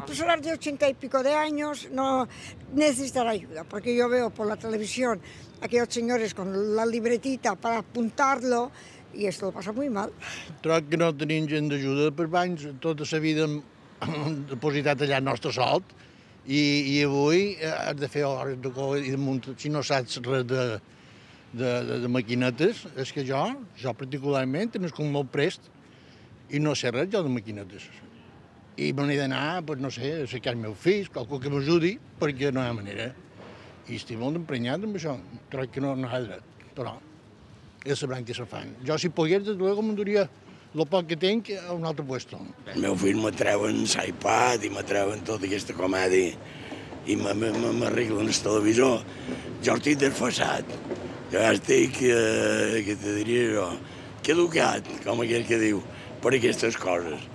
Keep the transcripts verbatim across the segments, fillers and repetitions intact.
Las personas de ochenta y pico de años no necesitan ayuda, porque yo veo por la televisión a aquellos señores con la libretita para apuntarlo y esto lo pasa muy mal. Troc que no tenim gent d'ajuda per banys, tota la vida hem depositat allà el nostre salt i, i avui has de fer hores de cova i damunt, si no saps res de, de, de, de maquinetes, és que jo, jo particularment, nascut molt prest i no sé res jo de maquinetes. I me n'he d'anar, pues, no sé, a cercar els meus fills, qualcú que m'ajudi, perquè no hi ha manera. I estic molt emprenyat amb això, troc que no, no hi ha dret, però és la branca que se fan. Jo, si pogués, des de luego, m'enduria el poc que tinc a un altre puesto. El meu fill m'atreuen l'iPad i m'atreuen tota aquesta comèdia i m'arreglen el televisor. Jo estic desfasat. Jo ja estic, eh, què te diria jo, caducat, com aquell que diu, per aquestes coses.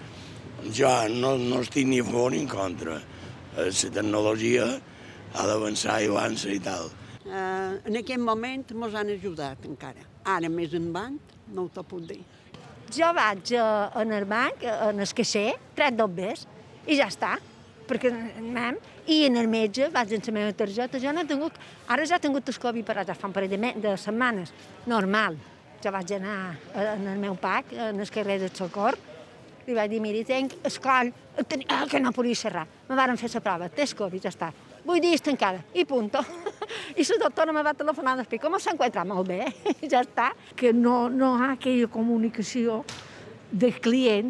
Jo no, no estic ni a favor ni en contra. La tecnologia ha d'avançar i avança i tal. Uh, en aquest moment ens han ajudat encara. Ara més endavant no t'ho puc dir. Jo vaig uh, en el banc, en el caixer, trec dos bes i ja està. Perquè anem, i en el metge vaig amb la meva targeta. Jo no he tingut, ara ja he tingut el Covid per ja fa un parell de, de setmanes. Normal. Jo vaig anar en el meu pac, en el carrer del Socor, i vaig dir, mira, tinc el coll, ah, que no podia xerrar. Me varen fer la prova, tens Covid, ja està. Vuit dies tancada, i punto. I la doctora me va telefonar després, com s'encuentra? Molt bé, ja està. Que no, no hi ha aquella comunicació del client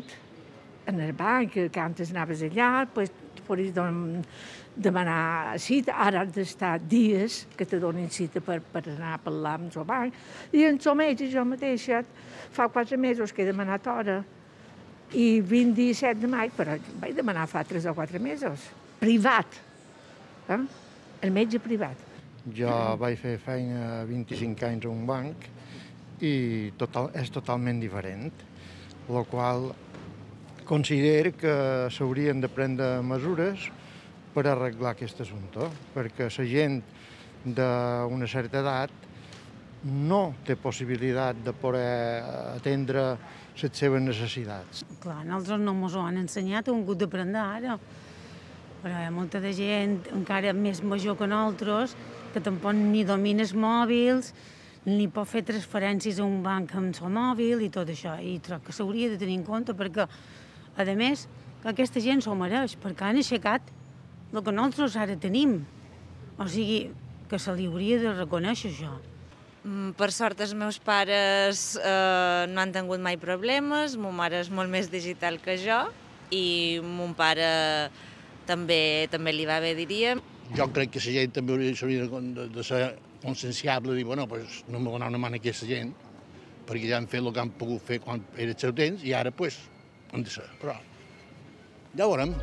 en el banc, que antes anaves allà, pues, podies demanar cita, ara has d'estar dies que te donin cita per, per anar a parlar amb el banc. I en el metge, jo mateixa, fa quatre mesos que he demanat hora, i vint disset de maig, però vaig demanar fa tres o quatre mesos. Privat. Eh? El metge privat. Jo vaig fer feina vint-i-cinc anys a un banc i total, és totalment diferent, el qual considero que s'haurien de prendre mesures per arreglar aquest assumpte, perquè la gent d'una certa edat no té possibilitat de poder atendre les seves necessitats. Clar, nosaltres no ens ho han ensenyat, ho hem hagut d'aprendre ara. Però hi ha molta de gent encara més major que nosaltres que tampoc ni domina els mòbils, ni pot fer transferències a un banc amb el mòbil i tot això. I crec que s'hauria de tenir en compte perquè, a més, que aquesta gent s'ho mereix, perquè han aixecat el que nosaltres ara tenim. O sigui, que se li hauria de reconèixer això. Per sort, els meus pares eh, no han tingut mai problemes, ma mare és molt més digital que jo i mon pare també, també li va bé, diríem. Jo crec que la gent també hauria de, de ser conscienciable i dir, bueno, pues, no m'ho donar una mà a aquesta gent, perquè ja han fet el que han pogut fer quan era el seu temps i ara, pues, han de ser. Però ja ho veurem.